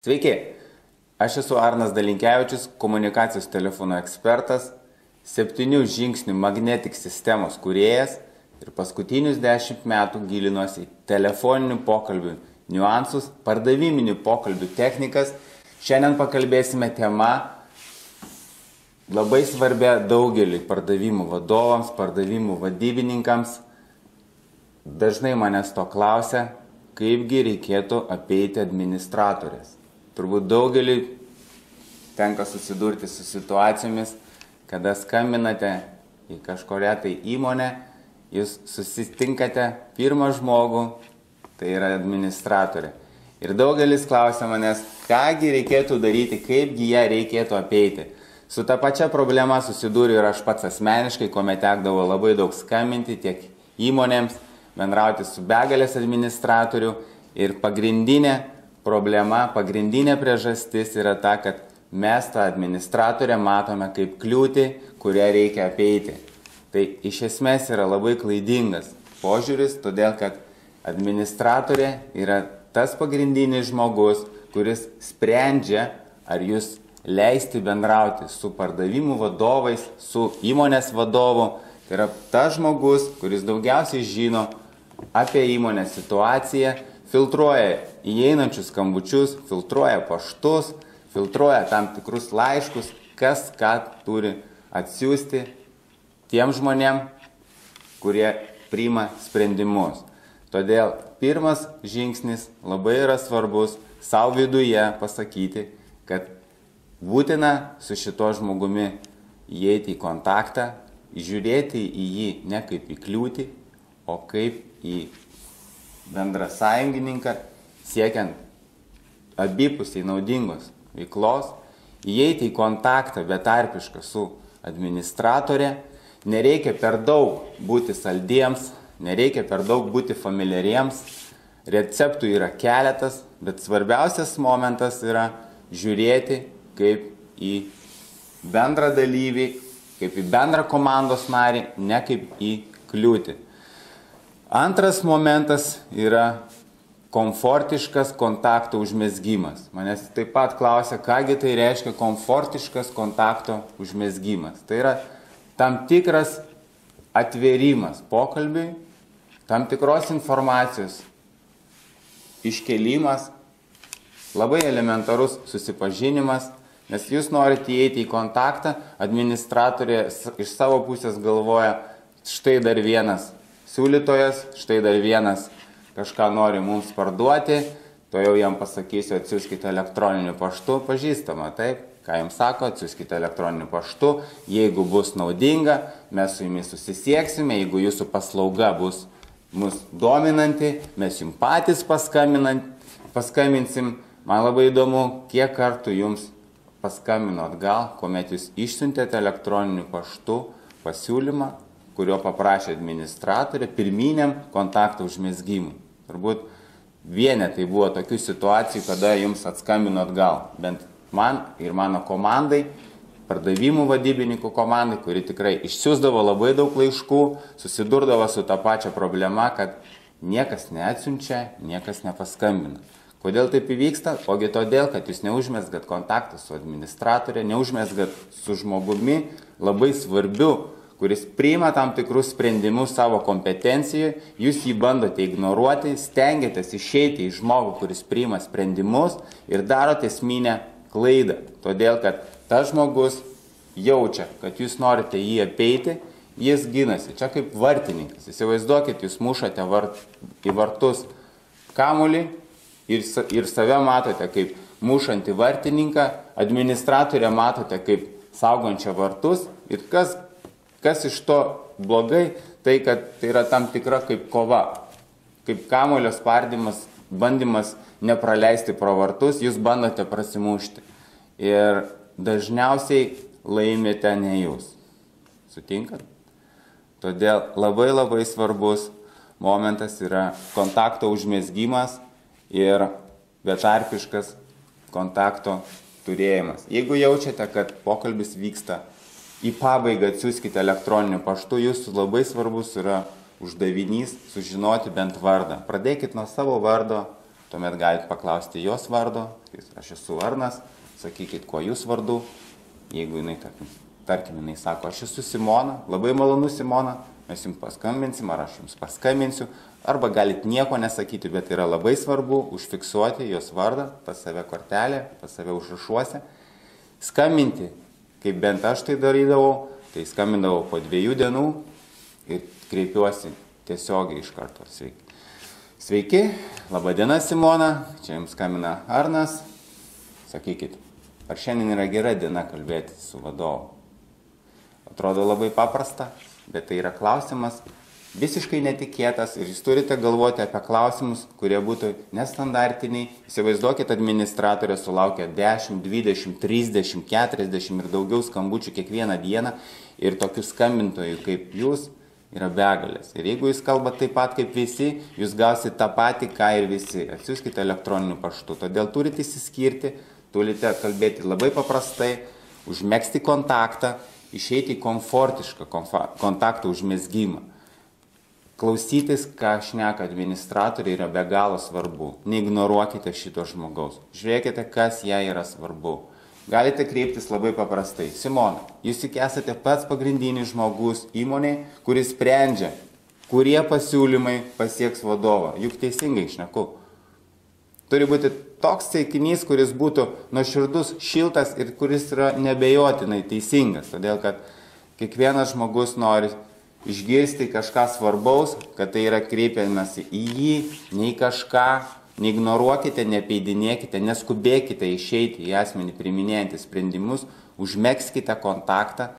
Sveiki, aš esu Arnas Dalinkevičius, komunikacijos telefono ekspertas, 7 žingsnių magnetik sistemos kūrėjas ir paskutinius 10 metų gilinuosi į telefoninių pokalbių niuansus, pardaviminių pokalbių technikas. Šiandien pakalbėsime tema labai svarbia daugeliui pardavimų vadovams, pardavimų vadybininkams. Dažnai manęs to klausia, kaipgi reikėtų apeiti administratorės. Turbūt daugeliui tenka susidurti su situacijomis, kada skambinate į kažkurią tai įmonę, jūs susitinkate pirmą žmogų, tai yra administratorė. Ir daugelis klausia manęs, kągi reikėtų daryti, kaipgi ją reikėtų apeiti. Su ta pačia problema susidūriu ir aš pats asmeniškai, kuomet tekdavo labai daug skambinti tiek įmonėms, bendrauti su begalės administratorių ir pagrindinė problema, pagrindinė priežastis yra ta, kad mes tą administratorę matome kaip kliūtį, kurią reikia apeiti. Tai iš esmės yra labai klaidingas požiūris, todėl kad administratorė yra tas pagrindinis žmogus, kuris sprendžia, ar jūs leisti bendrauti su pardavimų vadovais, su įmonės vadovu. Tai yra tas žmogus, kuris daugiausiai žino apie įmonės situaciją, filtruoja įeinančius skambučius, filtruoja paštus, filtruoja tam tikrus laiškus, kas ką turi atsiųsti tiem žmonėm, kurie priima sprendimus. Todėl pirmas žingsnis labai yra svarbus savo viduje pasakyti, kad būtina su šito žmogumi įeiti į kontaktą, žiūrėti į jį ne kaip į kliūtį, o kaip į bendrą sąjungininką, siekiant abipusiai naudingos veiklos, įeiti į kontaktą betarpišką su administratorė, nereikia per daug būti saldiems, nereikia per daug būti familiariems, receptų yra keletas, bet svarbiausias momentas yra žiūrėti kaip į bendrą dalyvį, kaip į bendrą komandos narį, ne kaip į kliūtį. Antras momentas yra komfortiškas kontakto užmezgimas. Manęs taip pat klausia, kągi tai reiškia komfortiškas kontakto užmezgimas. Tai yra tam tikras atvėrimas pokalbiui, tam tikros informacijos iškėlimas, labai elementarus susipažinimas, nes jūs norite įeiti į kontaktą, administratorė iš savo pusės galvoja, štai dar vienas siūlytojas, štai dar vienas kažką nori mums parduoti, to jau jam pasakysiu, atsiųskite elektroniniu paštu, pažįstama, taip, ką jums sako, atsiųskite elektroniniu paštu, jeigu bus naudinga, mes su jumis susisieksime, jeigu jūsų paslauga bus mus dominanti, mes jums patys paskambinsim. Man labai įdomu, kiek kartų jums paskambino atgal, kuomet jūs išsiuntėte elektroniniu paštu pasiūlymą, kurio paprašė administratorė pirminiam kontakto užmezgimui. Turbūt vienetai buvo tokių situacijų, kada jums atskambino atgal. Bent man ir mano komandai, pardavimų vadybininkų komandai, kuri tikrai išsiųsdavo labai daug laiškų, susidurdavo su tą pačią problemą, kad niekas neatsiunčia, niekas nepaskambina. Kodėl taip įvyksta? Ogi todėl, kad jūs neužmezgat kontaktą su administratorė, neužmezgat su žmogumi labai svarbiu, kuris priima tam tikrus sprendimus savo kompetencijoje, jūs jį bandote ignoruoti, stengiatės išeiti į žmogų, kuris priima sprendimus ir darote esminę klaidą. Todėl, kad tas žmogus jaučia, kad jūs norite jį apeiti, jis ginasi. Čia kaip vartininkas. Įsivaizduokit, jūs mušate į vartus kamuolį ir save matote kaip mušantį vartininką, administratorę matote kaip saugančią vartus ir kas iš to blogai, tai kad tai yra tam tikra kaip kova, kaip kamuolio spardymas, bandymas nepraleisti pro vartus, jūs bandote prasimušti. Ir dažniausiai laimite ne jūs. Sutinkat? Todėl labai svarbus momentas yra kontakto užmezgimas ir betarpiškas kontakto turėjimas. Jeigu jaučiate, kad pokalbis vyksta į pabaigą, atsiųskite elektroniniu paštu, jūsų labai svarbus yra uždavinys sužinoti bent vardą. Pradėkit nuo savo vardo, tuomet galite paklausti jos vardo, aš esu Arnas, sakykit, kuo jūs vardu, jeigu jinai, tarkim, jinai sako, aš esu Simona, labai malonu Simona, mes jums paskambinsim, ar aš jums paskambinsiu, arba galit nieko nesakyti, bet yra labai svarbu užfiksuoti jos vardą, pas save kortelę, pas save užrašuose, skambinti, kaip bent aš tai darydavau, tai skambindavau po 2 dienų ir kreipiuosi tiesiogiai iš karto. Sveiki, laba diena Simona, čia jums skambina Arnas, sakykit, ar šiandien yra gera diena kalbėti su vadovu? Atrodo labai paprasta, bet tai yra klausimas visiškai netikėtas ir jūs turite galvoti apie klausimus, kurie būtų nestandartiniai. Įsivaizduokit, administratorė sulaukia 10, 20, 30, 40 ir daugiau skambučių kiekvieną dieną ir tokių skambintojų kaip jūs yra begalės. Ir jeigu jūs kalbate taip pat kaip visi, jūs gausite tą patį, ką ir visi. Atsiųskite elektroniniu paštu. Todėl turite įsiskirti, turite kalbėti labai paprastai, užmegzti kontaktą, išeiti į komfortišką kontakto užmezgymą. Klausytis, ką šneka administratoriai, yra be galo svarbu. Neignoruokite šito žmogaus. Žiūrėkite, kas jai yra svarbu. Galite kreiptis labai paprastai. Simona, jūs juk esate pats pagrindinis žmogus įmonėje, kuris sprendžia, kurie pasiūlymai pasieks vadovą. Juk teisingai šneku. Turi būti toks teikinys, kuris būtų nuoširdus, šiltas ir kuris yra nebejotinai teisingas. Todėl, kad kiekvienas žmogus nori išgirsti kažką svarbaus, kad tai yra kreipiamasi į jį, nei kažką, neignoruokite, nepeidinėkite, neskubėkite išeiti į asmenį priiminėjantį sprendimus, užmegzkite kontaktą